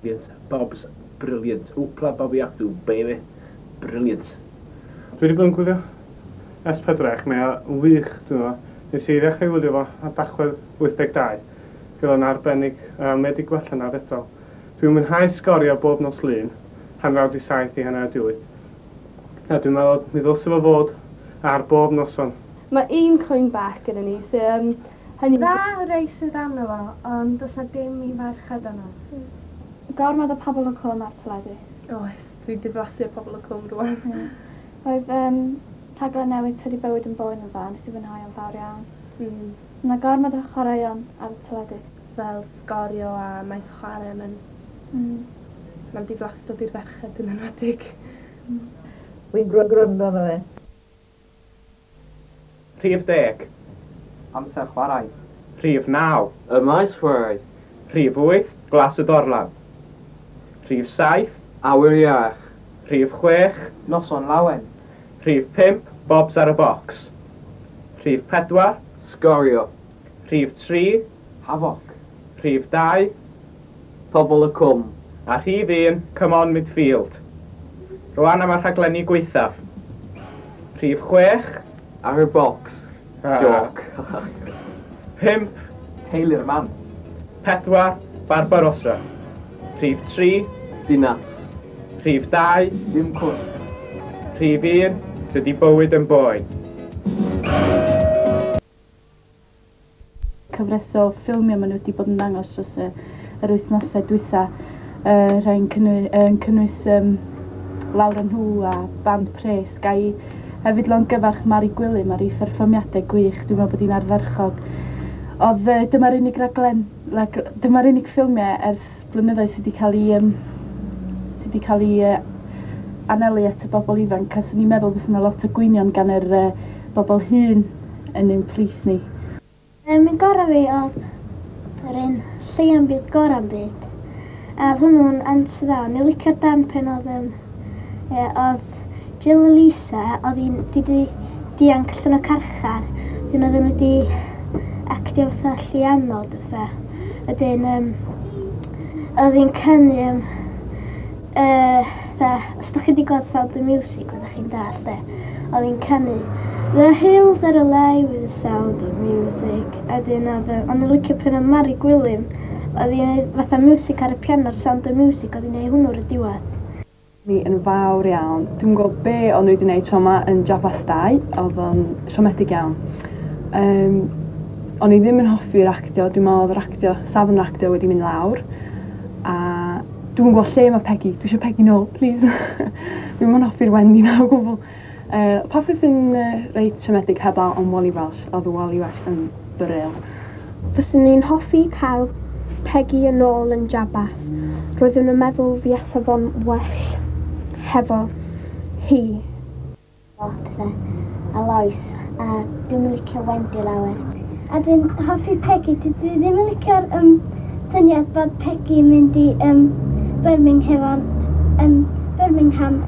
Brilliant. Bob's brilliant. Hoopla Bobby Actw, baby. Brilliant. Dwi wedi bod yn gwylio S4C, mae o'n wych, dwi'n meddwl. Nes i ddechrau wylio fo ar Dachwedd 82. Roedd o'n arbennig, a mae wedi gwella'n aruthrol. Dwi'n mwynhau Sgorio bob nos Lun, 6:30 i 7:30. A dwi'n meddwl mi ddylse fo fod ar bob noson. Mae un cwyn bach gyda ni, sy yym hynny... Dda rei sydd arno fo, ond does 'na dim i ferched yno. Gormod o Pobol y Cwm ar teledu. Oes, dwi diflasu ar Pobol y Cwm rwan. Ie. Roedd yym rhaglen newydd Tydi Bywyd yn Boen yn dda, nes i fwynhau o'n fawr iawn. Ma' gormod o chwaraeon ar y teledu. Fel Sgorio a Maes Chwarae, mae'n... Mae'n diflastod i'r ferched yn enwedig. Wi'n gwrando arno fe. Rhif deg. Amser chwarae. Rhif naw. Y maes chwarae. Rhif wyth, Glas y Dorlan. Rhif saith. Awyr iach. Rhif chwech. Noson lawen. Rhif pump, Bobs ar y bocs. Rhif pedwar. Sgorio. Rhif tri. Hafoc. Rhif dau. Pobol y Cwm. A rhif un, Come on Midfield. Rwan am y rhaglenni gwaethaf. Rhif chwech. Ar y bocs. Jôc. Pump. Teulu'r Mans. Pedwar, Barbarossa. Rhif tri. Dinas. Rhif dau. Dim cwsg. Rhif un, Tydi bywyd yn boen. Cyfres o ffilmiau maen nhw wedi bod yn dangos dros y, yr wythnosau dwytha. Rhai'n cynnwys, yn cynnwys Lawr a Nhw a Band Pres. Ga i hefyd longyfarch Mari Gwilym ar ei pherfformiadau gwych. Dwi'n meddwl bod hi'n ardderchog. Oedd dyma'r unig raglen, dyma'r unig ffilmiau ers blynyddoedd sydd wedi cael ei, sydd wedi cael ei anelu at y bobl ifanc. A 'swn i'n meddwl fysa yna lot o gwynion gan yr bobl hŷn yn ein plith ni. Un gorau fi oedd yr un Lleia'n Byd Gorau'n Byd. A oedd hwnnw'n answer dda. O'n i'n licio'r darn pen oedd, ie, oedd Jill a Lisa, oedd hi'n di dianc allan o carchar. Wedyn oedden nhw wedi actio fatha lleianod fatha. Wedyn oedd hi'n canu fatha, os da chi wedi gweld Sound of Music, fyddwch chi'n dallt de. Oedd hi'n canu "The hills are alive with the sound of music." A wedyn oedd, o'n i'n licio pen oedd Mari Gwilym, oedd hi'n neud fatha music ar y piano'r Sound of Music, oedd hi'n neud hwnnw ar y diwedd. Mi yn fawr iawn. Dwi'm yn gwybod be o'n nhw wedi gwneud tro yma yn Jabas 2, oedd o'n siomedig iawn. O'n i ddim yn hoffi'r actio, dwi'n meddwl oedd yr actio, safon yr actio wedi mynd lawr. A dwi'm yn gwybod lle mae Peggy, dwi eisiau Peggy nôl, please. Dwi'm yn hoffi'r Wendy na o gwbl. Popeth yn reit siomedig heblaw am Wally Welsh, oedd Wally Welsh yn brill. Fyswn i'n hoffi cael Peggy yn ôl yn Jabas. Roeddwn yn meddwl fuasa fo'n well hefo hi. Pethau a Lois, a dwi'm yn licio Wendy lawer. A dwi'n hoffi Peggy, dwi ddim yn licio'r syniad bod Peggy yn mynd i Birmingham, Birmingham.